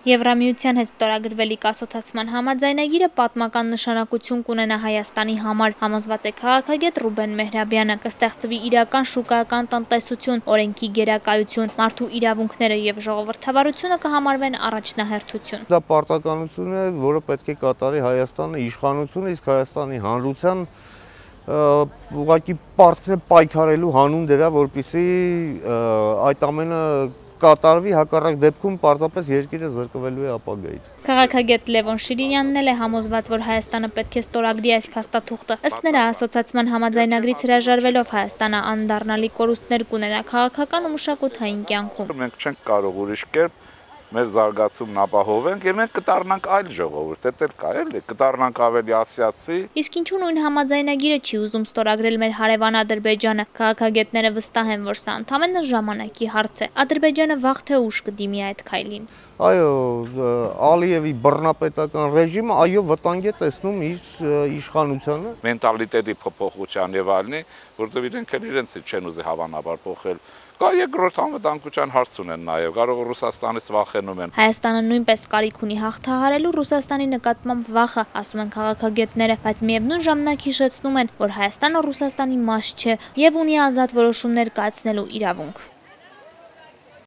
Եվրամիության հետ ստորագրվելիք ասոցիացման համաձայնագիրը պատմական նշանակություն կունենա Հայաստանի համար, համոզված է քաղաքագետ Ռուբեն Մեհրաբյանը, կստեղծվի իրական շուկայական տնտեսություն, օրենքի գերակայություն, մարդու իրավունքները եւ ժողովրդավարությունը կհամարվեն առաջնահերթություն։ Դա պարտականություն է, որը պետք է կատարի Հայաստանը, իշխանությունը, իսկ Հայաստանի հանրության ուղղակի պարտքն է պայքարելու հանուն դրա, որպեսզի այդ ամենը կատարվի, հակառակ դեպքում պարզապես երկիրը զրկվելու է ապագայից։ Քաղաքագետ Լևոն Շիրինյանն էլ է համոզված, որ Հայաստանը պետք է ստորագրի այս փաստաթուղթը։ Ըստ նրա, ասոցիացման համաձայնագրից հրաժարվելով Հայաստանը անդառնալի կորուստներ կունենա քաղաքական ու մշակութային կյանքում։ Մենք չենք կարող ուրիշ կերպ մեր զարգացումն ապահովենք եւ մենք կդառնանք այլ ժողովուրդ, դա կա էլի, կդառնանք ավելի ասիացի։ Իսկ ինչու նույն համաձայնագիրը չի ուզում ստորագրել մեր հարևան Ադրբեջանը։ Քաղաքագետները վստահ են, որ սա ընդամենը ժամանակի հարց է։ Ադրբեջանը վաղ թե ուշ կդիմի այդ քայլին։ Այո, Ալիևի բռնապետական ռեժիմը վտանգ է տեսնում իր իշխանությանը։ Մենտալիտետի փոփոխության եւ այլնի, որտեղ իրենք էլ իրենցից չեն ուզի հավանաբար փոխել։ Կա երկրորդ անվտանգության հարց ունեն նաեւ, կարող է Ռուսաստանից վախենում են։ Հայաստանը նույնպես կարիք ունի հաղթահարելու Ռուսաստանի նկատմամբ վախը, ասում են քաղաքագետները, բայց միևնույն ժամանակ հիշեցնում են, որ Հայաստանը Ռուսաստանի մաս չէ եւ ունի ազատ որոշումներ կայացնելու իրավունք։